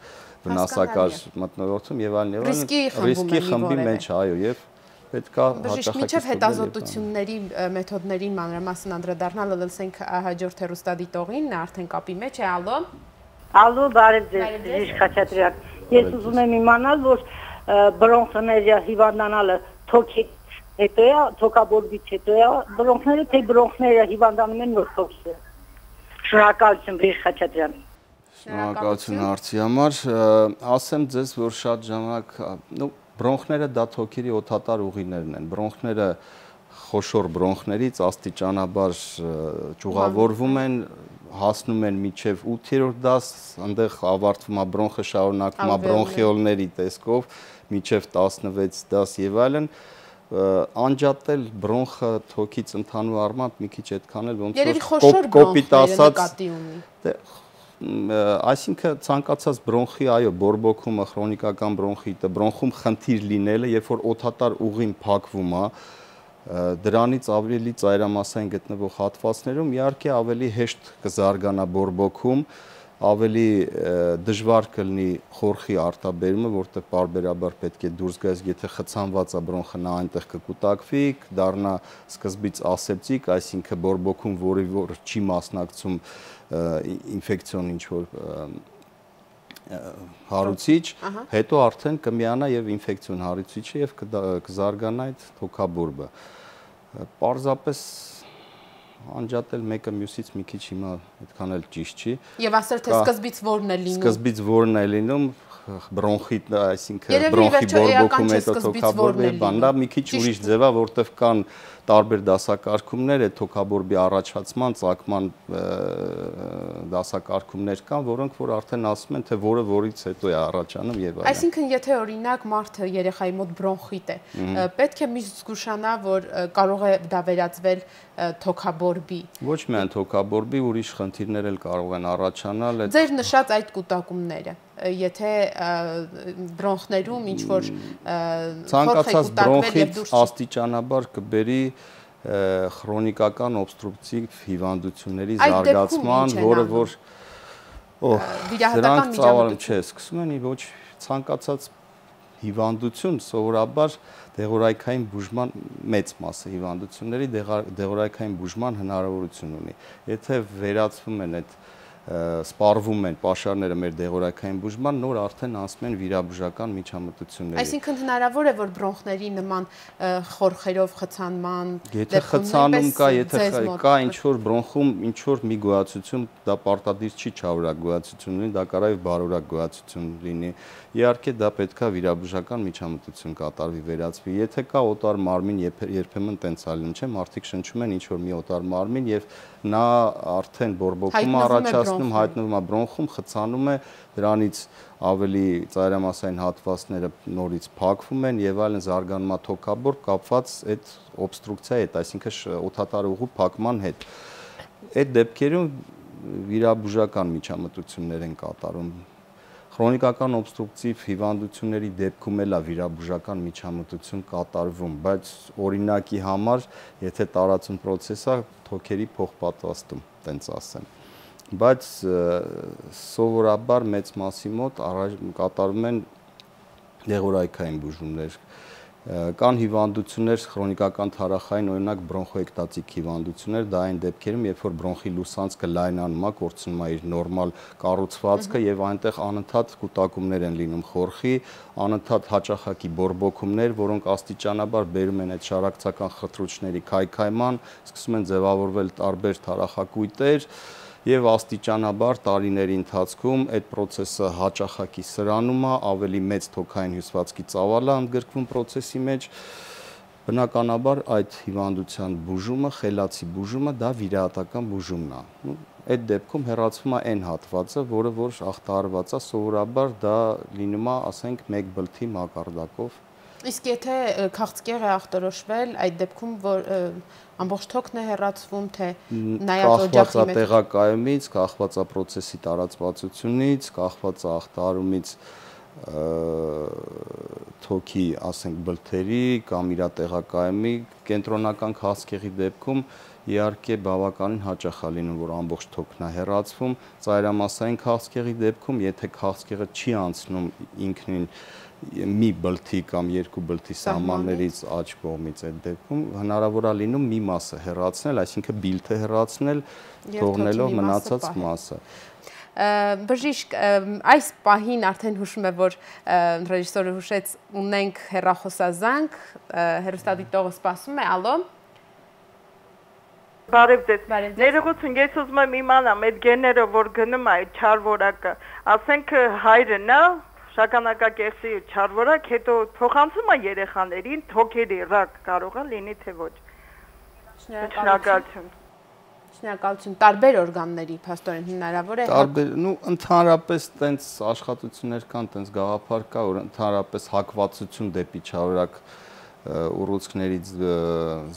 վնասակար մթնոլորտում եւ այլն եւ այլն, ռիսկի խմբի մեջ, այո, եւ պետք է հաճախակի մինչև հետազոտությունների մեթոդներին մանրամասն անդրադառնալը լսենք հաջորդ հեռուստադիտողին, նա արդեն կապի մեջ է, ալո։ Ալո, բարև ձեզ, Ժիշ Խաչատրյան։ Ես ուզում եմ իմանալ, որ բրոնխների հիվանդանալը թոքի հետո է, թոքաբորբից հետո է, բրոնխները թե բրոնխները հիվանդանում են նոր թոքի։ Շնորհակալություն, Ժիշ Խաչատրյան։ Շնորհակալություն հարցի համար, ասեմ ձեզ, որ շատ ժամանակ, բրոնխները դա թոքերի օդատար ուղիներն են, բրոնխները խոշոր բրոնխներից աստիճանաբար ճյուղավորվում են, հասնում են մինչև 8-րդ դաս, այնտեղ ավարտվում է բրոնխը շարունակվում է բրոնխիոլների տեսքով, մինչև 16 դաս եւ այլն, անջատել բրոնխը թոքից ընդհանուր առմամբ մի քիչ այդքան էլ ոնց որ կոպիտ ասած, այսինքն ցանկացած բրոնխի, այո, բորբոքումը, քրոնիկական բրոնխիտը, բրոնխում խնդիր լինելը, երբ որ օդատար ուղին փակվում է, դրանից ավելի ծայրամասային գտնվող հատվածներում իհարկե ավելի հեշտ կզարգանա բորբոքում, ավելի դժվար կլինի խորխի արտաբերումը, որտեղ պարբերաբար պետք է դուրս գայ, եթե խցանված է բրոնխը, նա այնտեղ կկուտակվի, դառնա սկզբից ասեպտիկ, այսինքն բորբոքում, որի որ չի մասնակցում ինֆեկցիոն ինչ-որ հարուցիչ, հետո արդեն կմիանա եւ ինֆեկցիոն հարուցիչը եւ կզարգանա այդ թոքաբորբը։ Պարզապես անջատել մեկը մյուսից մի քիչ հիմա այդքան էլ ճիշտ չի։ Եվ ասել թե սկզբից որն է լինում։ Սկզբից որն է լինում, բրոնխիտ, այսինքն բրոնխի բորբոքում հետո թոքաբորբի բան, դա մի քիչ ուրիշ ձև է, որտեղ կան տարբեր դասակարգումներ, այդ թոքաբորբի առաջացման, ծագման դասակարգումներ կան, որոնք որ արդեն ասում են, թե որը որից հետո է առաջանում եւ այլն։ Այսինքն, եթե օրինակ մարդը երեխայի մոտ բրոնխիտ է, պետք է միշտ զգուշանա, որ կարող է դա վերածվել թոքաբորբի։ Ոչ միայն թոքաբորբի, ուրիշ խնդիրներ էլ կարող են առաջանալ։ Ձեր նշած այդ կուտակումները եթե բրոնխներում ինչ-որ ցանկացած բրոնխիտ աստիճանաբար կբերի քրոնիկական օբստրուկտիվ հիվանդությունների զարգացման, որը որ վիրահատական միջամտություն չէ, սկսում են ոչ ցանկացած հիվանդություն սովորաբար դեղորայքային բուժման մեծ մասը հիվանդությունների դեղորայքային բուժման հնարավորություն ունի։ Եթե վերացվում են այդ սպառվում են պաշարները մեր դեղորայքային բուժման, նոր արդեն անցնում են վիրաբուժական միջամտությունների։ Այսինքն հնարավոր է, որ բրոնխների նման խորխերով խցանման եթե խցանում կա, եթե կա ինչ-որ բրոնխում ինչ-որ մի գոյացություն, դա պարտադիր չի չարորակ գոյացություն լինի, դա կարող է բարորակ գոյացություն լինի։ Իհարկե դա պետք է վիրաբուժական միջամտություն կատարվի, վերացվի։ Եթե կա օտար մարմին, երբեմն տենց է լինում, չէ՞, մարդիկ շնչում են ինչ-որ մի օտար մարմին եւ նա արդեն բորբոքում առաջացնում, հայտնվում է բրոնխում, խցանում է, դրանից ավելի ծայրամասային հատվածները նորից փակվում են եւ այլն, զարգանում է թոքաբոր կապված այդ օբստրուկցիայի հետ, այսինքն օդատար ուղու փակման հետ։ Այդ դեպքերում վիրաբուժական միջամտություններ են կատարում։ Քրոնիկական օբստրուկտիվ հիվանդությունների դեպքում էլ է վիրաբուժական միջամտություն կատարվում, բայց օրինակի համար, եթե տարածում պրոցես է, թոքերի փոխպատվաստում, տենց ասեմ։ Բայց սովորաբար մեծ մասի մոտ կատարվում են դեղորայքային բուժումներ։ Կան հիվանդություններ, քրոնիկական թարախային, օրինակ բրոնխոէկտատիկ հիվանդություններ, դա այն դեպքերում, երբ որ բրոնխի լուսանցքը լայնանում է, կորցնում է իր նորմալ կառուցվածքը եւ այնտեղ անընդհատ կուտակումներ են լինում խորխի, անընդհատ հաճախակի բորբոքումներ, որոնք աստիճանաբար բերում են այդ շարակցական խտրուչների քայքայման, սկսում են ձևավորվել տարբեր թարախակույտեր եւ աստիճանաբար տարիների ընթացքում այդ process-ը հաճախակի սրանում է, ավելի մեծ թոքային հյուսվածքի ծավալ է ընդգրկվում process-ի մեջ։ Բնականաբար այդ հիվանդության բուժումը, խելացի բուժումը դա վիրահատական բուժումն է։ Այդ դեպքում հեռացվում է այն հատվածը, որը որ ախտահարված է, սովորաբար դա լինում է, ասենք, 1 բլթի մակարդակով։ Իսկ եթե քաղցկեղ է ախտորոշվել, այդ դեպքում որ ամբողջ թոքն է հեռացվում, թե նայած օջախի մեջ տեղակայումից, կախված է process-ի տարածվածությունից, կախված է ախտահարումից թոքի, ասենք, բլթերի կամ իր տեղակայումի, կենտրոնական քաղցկեղի դեպքում իհարկե բավականին հաճախ է լինում, որ ամբողջ թոքն է հեռացվում, ծայրամասային քաղցկեղի դեպքում, եթե քաղցկեղը չի անցնում ինքնին մի բլթի կամ 2 բլթի սահմաններից աջ կողմից, այդ դեպքում հնարավոր է լինում մի մասը հեռացնել, այսինքն բիլթը հեռացնել, թողնելով մնացած մասը։ Բժիշկ, այս պահին արդեն հուշում է, որ ռեժիսորը հուշեց, ունենք հեռախոսազանգ, հեռուստադիտողը սպասում է, ալո։ Բարև ձեզ։ Ներողություն, ես ուզում եմ իմանամ, այդ գեները, որ գնում է այդ չար որակը, ասենք հայրը նա շագանակակեղծի չար որակ, հետո փոխանցում է երեխաներին, թոքերի ռակ կարող է լինի, թե ոչ։ Շնորհակալություն։ Շնորհակալություն, տարբեր օրգանների փաստորեն հնարավոր է։ Տարբեր, ընդհանրապես տենց աշխատություններ կան, տենց գաղափար կա, որ ընդհանրապես հակվածություն դեպի չարորակ ուռուցքներից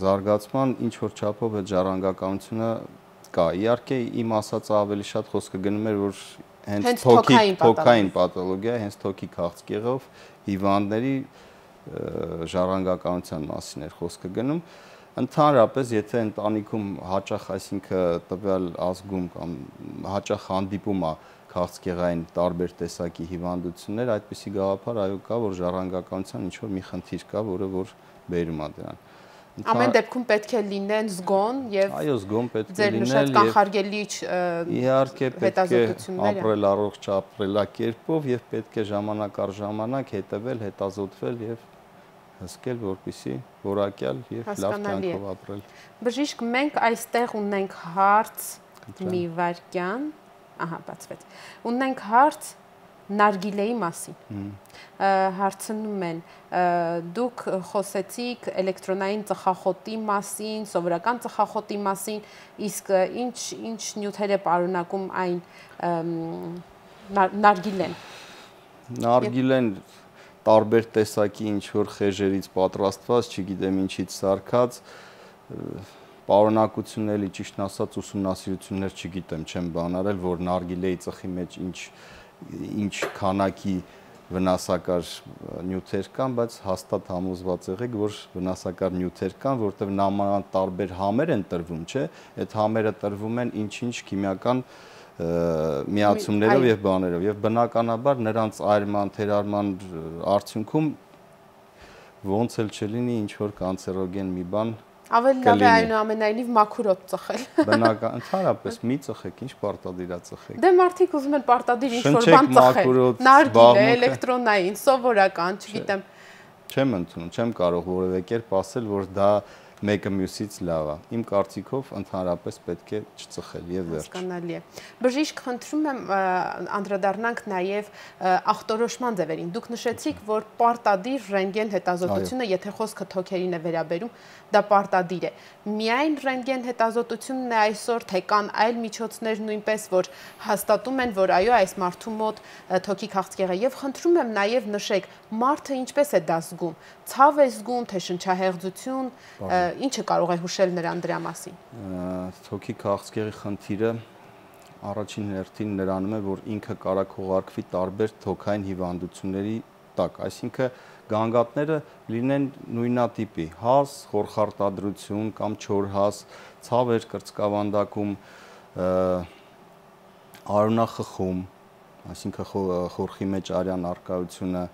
զարգացման ինչ որ չափով այդ ժառանգականությունը կա։ Իհարկե իմ ասածը ավելի շատ խոսքը գնում էր, որ հենց թոքային պաթոլոգիա, հենց թոքի քաղցկեղով հիվանդների ժառանգականության մասին էր խոսքը գնում։ Ընդհանրապես, եթե ընտանիքում հաճախ, այսինքն տվյալ ազգում կամ հաճախ հանդիպում է քաղցկեղային տարբեր տեսակի հիվանդություններ, այդպիսի գաղափար այո կա, որ ժառանգականության ինչ որ մի խնդիր կա, որը որ բերում է դրան։ Ամեն դեպքում պետք է լինեն զգոն եւ այո, զգոն պետք է լինել եւ կանխարգելիչ իհարկե պետք է ապրել առողջ ապրելակերպով եւ պետք է ժամանակ առ ժամանակ հետևել, հետազոտվել եւ հսկել, որպեսզի որակյալ եւ լավ կյանքով ապրել։ Բժիշկ, մենք այստեղ ունենք հարց մի վարքյան, ահա, բացվեց։ Ունենք հարց նարգիլեի մասին։ Հարցնում են, դուք խոսեցիք էլեկտրոնային ծխախոտի մասին, սովորական ծխախոտի մասին, իսկ ինչ նյութեր է պարունակում այն նարգիլեն։ Նարգիլեն տարբեր տեսակի ինչ որ խեժերից պատրաստված, չգիտեմ ինչից սարքած, պարունակությունների ճիշտն ասած ուսումնասիրություններ չգիտեմ, չեմ բանարել, որ նարգիլեի ծխի մեջ ինչ ինչ քանակի վնասակար նյութեր կան, բայց հաստատ համոզված եղեք, որ վնասակար նյութեր կան, որտեղ նամանավանդ տարբեր համեր են տրվում, չէ՞, այդ համերը տրվում են ինչ-ինչ քիմիական միացումներով եւ բաներով եւ բնականաբար նրանց այրման, թերարման արդյունքում ոնց էլ չլինի ինչ որ կանցերոգեն մի բան ավելի լավ է այնուամենայնիվ մաքուրով ծխել։ Բնական, ընդհանրապես մի ծխեք, ինչ պարտադիր է ծխեք։ Դե մարդիկ ուզում են պարտադիր ինչ-որ բան ծխել։ Նարգիլե, էլեկտրոնային, սովորական, չգիտեմ։ Չեմ ընդունում, չեմ կարող որևէ կերպ ասել, որ դա մեկը մյուսից լավ է։ Իմ կարծիքով ընդհանրապես պետք է չծխել եւ վերջ։ Հասկանալի է։ Բժիշկ, խնդրում եմ անդրադառնանք նաեւ ախտորոշման ձևերին։ Դուք նշեցիք, որ պարտադիր ռենտգեն հետազոտությունը, եթե խոսքը թոքերին է վերաբերում, դա պարտադիր է։ Միայն ռենտգեն հետազոտությունն է այսօր, թե կան այլ միջոցներ նույնպես, որ հաստատում են, որ այո, այս մարդու մոտ թոքի քաղցկեղ է։ Եվ խնդրում եմ նաեւ նշեք, մարդը ինչպես է դա զգում։ Ցավ է զգում, թե շնչահեղձություն, ինչը կարող է հուշել նրան դրա մասին։ Թոքի քաղցկեղի խնդիրը առաջին հերթին նրանում է, որ ինքը կարող քողարկվի տարբեր թոքային հիվանդությունների տակ, այսինքն գանգատները լինեն նույնատիպի, հազ, խորխարտադրություն կամ չորհազ, ցավեր կրծքավանդակում, արյունախխում, այսինքն խորխի մեջ արյան առկայությունը,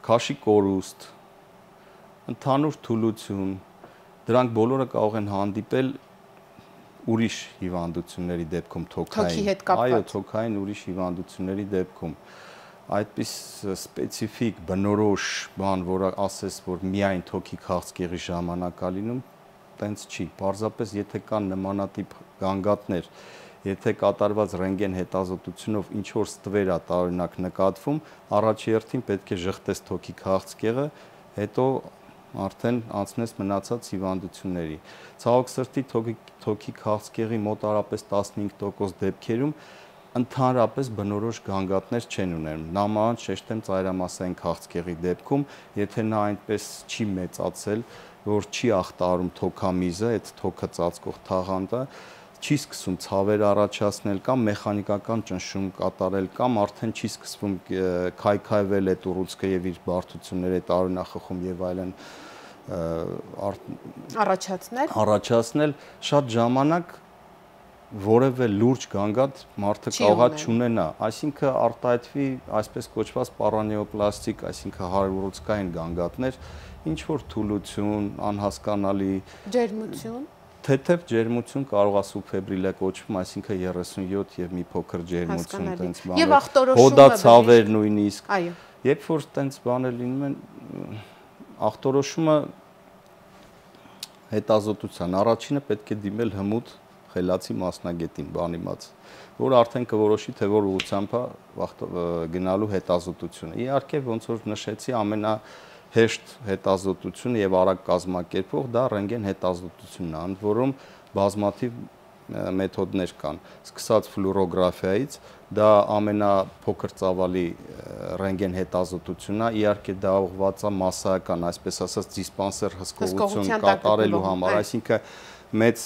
քաշի կորուստ, ընդհանուր թուլություն, դրանք բոլորը կարող են հանդիպել ուրիշ հիվանդությունների դեպքում թոքային, այո, թոքային ուրիշ հիվանդությունների դեպքում, այդպես սպეციფიկ բնորոշ բան, որը ասես, որ միայն թոքի քաղցկեղի ժամանակ է լինում, տենց չի, պարզապես եթե կան նմանատիպ գանգատներ, եթե կատարված ռենտգեն հետազոտությունով ինչ որ ստվեր է տարօրինակ նկատվում, առաջի հերթին պետք է ժխտես թոքի քաղցկեղը, հետո արդեն անցնես մնացած հիվանդությունների։ Ցավոք սրտի թոքի քաղցկեղի մոտարապես 15% դեպքերում ընդհանրապես բնորոշ գանգատներ չեն ունենում։ Նամանավանդ շեշտեմ ծայրամասային քաղցկեղի դեպքում, եթե նա այնպես չի մեծացել, որ չի ախտարում թոքամիզը, այդ թոքը ծածկող թաղանթը, չի սկսում ցավեր առաջացնել կամ մեխանիկական ճնշում կատարել կամ արդեն չի սկսվում քայքայվել այդ ուռուցքը եւ իր բարդությունները, այդ արյունախխում եւ այլն առաջացնել, շատ ժամանակ որևէ լուրջ գանգատ մարդը կարող է չունենա, այսինքն արտահայտվի այսպես կոչված պարանեոպլաստիկ, այսինքն հարյուռուցքային գանգատներ, ինչ որ թուլություն, անհասկանալի ջերմություն, թեթև ջերմություն կարող է սուբֆեբրիլ է կոչվում, այսինքն 37 եւ մի փոքր ջերմություն տենց բաներ։ Եվ ախտորոշումը հոդացավեր նույնիսկ։ Այո։ Երբ որ տենց բաներ լինում են, ախտորոշումը հետազոտության առաջինը պետք է դիմել հմուտ խելացի մասնագետին, բանիմաց, որ արդեն կորոշի, թե որ ուղղությամբ է գնալու հետազոտությունը։ Իհարկե, ոնց որ նշեցի, ամենահեշտ հետազոտությունը եւ արագ կազմակերպող դա ռենտգեն հետազոտությունն է, ընդ որում բազմաթիվ մեթոդներ կան, սկսած ֆլուորոգրաֆիայից, դա ամենափոքր ծավալի ռենտգեն հետազոտությունն է, իհարկե դա ուղղված է մասսայական, այսպես ասած, դիսպանսեր հսկողություն կատարելու համար, այսինքն մեծ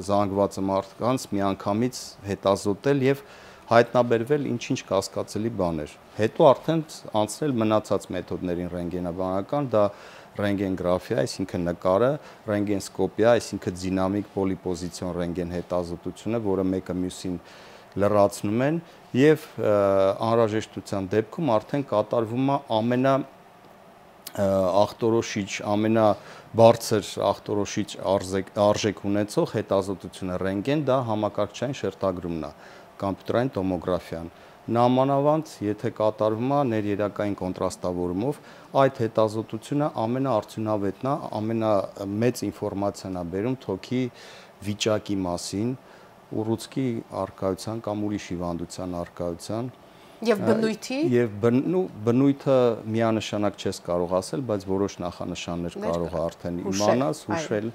զանգվածը մարդկանց միանգամից հետազոտել եւ հայտնաբերվել ինչ-ինչ կասկածելի բաներ։ Հետո արդեն անցնել մնացած մեթոդներին ռենտգենաբանական, դա ռենտգենգրաֆիա, այսինքն նկարը, ռենտգենսկոպիա, այսինքն դինամիկ պոլիպոզիցիոն ռենտգեն հետազոտությունը, որը մեկը մյուսին լրացնում են եւ անհրաժեշտության դեպքում արդեն կատարվում է ախտորոշիչ, ամենաբարձր ախտորոշիչ արժեք ունեցող հետազոտությունը ռենտգեն, դա համակարգչային շերտագրումն է, կոմպյուտերային տոմոգրաֆիան։ Նամանավանդ, եթե կատարվում է ներերակային կոնտրաստավորումով, այդ հետազոտությունը ամենաարդյունավետն է, ամենամեծ ինֆորմացիան է բերում թոքի վիճակի մասին, ուռուցքի առկայության կամ ուրիշ հիվանդության առկայության Եվ բնույթի։ Եվ բնույթը միանշանակ չես կարող ասել, բայց որոշ նախանշաններ կարող է արդեն իմանաս, հուշել։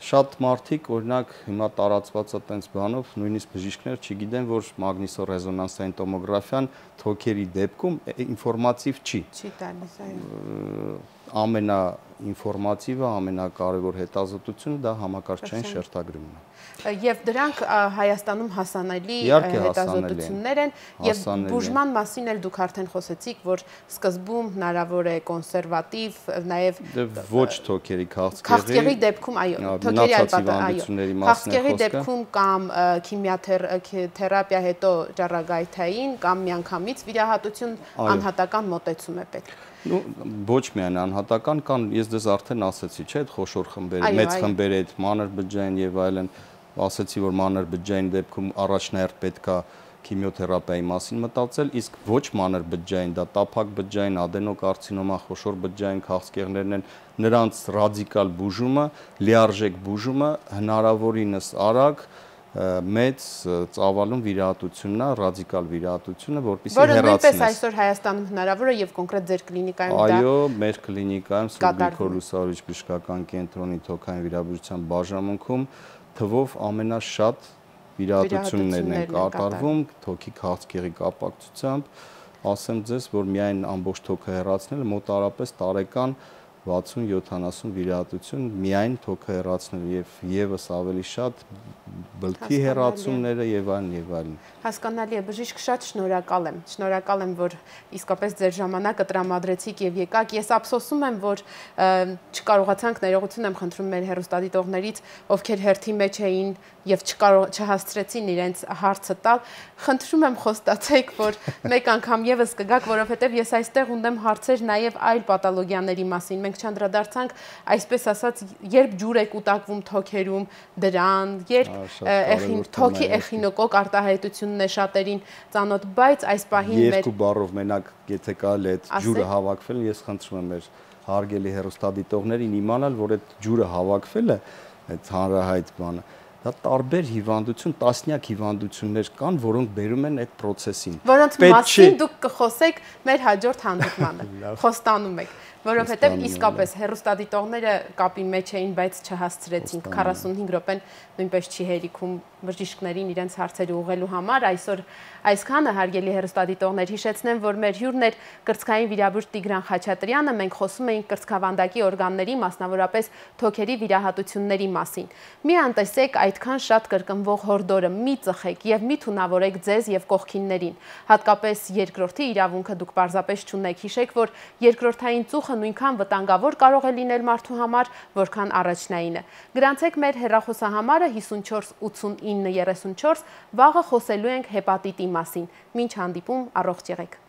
Շատ մարդիկ, օրինակ, հիմա տարածված է տենց բանով, նույնիսկ բժիշկներ չգիտեն, որ մագնիսոռեզոնանսային տոմոգրաֆիան թոքերի դեպքում ինֆորմատիվ չի։ Չի տալիս, այո։ ամենաինֆորմատիվը, ամենակարևոր հետազոտությունը դա համակարգչային շերտագրումն է։ Եվ դրանք Հայաստանում հասանելի հետազոտություններ են եւ բուժման մասին էլ դուք արդեն խոսեցիք, որ սկզբում հնարավոր է կոնսերվատիվ, նաեւ ոչ թոքերի քաղցկեղի դեպքում, այո, թոքերի քաղցկեղի դեպքում կամ քիմիաթերապիա հետո ճառագայթային կամ միանգամից վիրահատություն անհատական մոտեցում է պետք։ Ոչ միայն անհատական, կան, ես դες արդեն ասեցի, չէ՞, այդ խոշոր խմբերը, մեծ խմբերը, այդ մանր բջջային եւ այլն, ասեցի, որ մանր բջջային դեպքում առաջնահերթ պետք է քիմիոթերապիայի մասին մտածել, իսկ ոչ մանր բջջային, դա տափակ բջջային, ադենոկարցինոմա, խոշոր բջջային քաղցկեղներն են, նրանց ռադիկալ բուժումը, լիարժեք բուժումը հնարավորինս արագ մեծ ծավալուն վիրահատությունն է, ռադիկալ վիրահատությունը, որպեսզի հեռացնես։ Որը նույնպես այսօր Հայաստանում հնարավոր է եւ կոնկրետ ձեր կլինիկայում դա։ Այո, մեր կլինիկայում Սուրբ Լուսավորիչ բժշկական կենտրոնի թոքային վիրաբուժության բաժանմունքում թվով ամենաշատ վիրահատություններն են կատարվում թոքի քաղցկեղի կապակցությամբ, ասեմ ձեզ, որ միայն ամբողջ թոքը հեռացնելը մոտարապես տարեկան 60-70 վիրահատություն միայն թոքը հեռացնելը եւ եւս ավելի շատ բլթի հեռացումները եւ այլն եւ այլն։ Հասկանալի է, բժիշկ, շատ շնորհակալ եմ, որ իսկապես ձեր ժամանակը տրամադրեցիք եւ եկաք։ Ես ափսոսում եմ, որ չկարողացանք, ներողություն եմ խնդրում մեր հեռուստադիտողներից, ովքեր հերթի մեջ էին եւ չհասցրեցին իրենց հարցը տալ։ Խնդրում եմ խոստացեք, որ մեկ անգամ եւս կգաք, որովհետեւ ես այստեղ ունեմ հարցեր նաեւ այլ պաթոլոգիաների մասին։ Մենք չանդրադարձանք, այսպես ասած, երբ ջուր է կուտակվում թոքերում, դրան, երբ թոքի էխինոկոկ արտահայտությունն է շատերին ծանոթ, բայց այս պահին երկու բառով մենակ եթե կարելի է այդ ջուրը հավաքվել, ես խնդրում եմ մեր հարգելի հեռուստադիտողներին իմանալ, որ այդ ջուրը հավաքվել է, այդ հանրահայտ բանը, դա տարբեր հիվանդություն, տասնյակ հիվանդություններ կան, որոնք բերում են այդ process-ին։ Որոնց մասին դուք կխոսեք մեր հաջորդ հանդիպմանը։ Խոստանում եք, որովհետև իսկապես հեռուստադիտողները կապի մեջ էին, բայց չհասցրեցինք 45 րոպեն նույնպես չի հերիքում բժիշկներին իրենց հարցերը ուղղելու համար։ Այսօր այսքանը, հարգելի հեռուստադիտողներ, հիշեցնեմ, որ մեր հյուրն էր կրծքային վիրաբույժ Տիգրան Խաչատրյանը, մենք խոսում էինք կրծքավանդակի օրգանների, մասնավորապես թոքերի վիրահատությունների մասին։ Մի անտեսեք այդքան շատ կրկնվող հորդորը, մի ծխեք եւ մի թունավորեք ձեզ եւ կողքիններին։ Հատկապես երկրորդի իրավունքը դուք պարզապես չունեք։ Հիշեք, որ երկրորդային ծուխը նույնքան վտանգավոր կարող է լինել մարդու համար, որքան առաջնայինը։ Գրանցեք մեր հեռախոսահամարը 54 89 34, վաղը խոսելու ենք հեպատիտի մասին։ Մինչ հանդիպում, առողջ եղեք։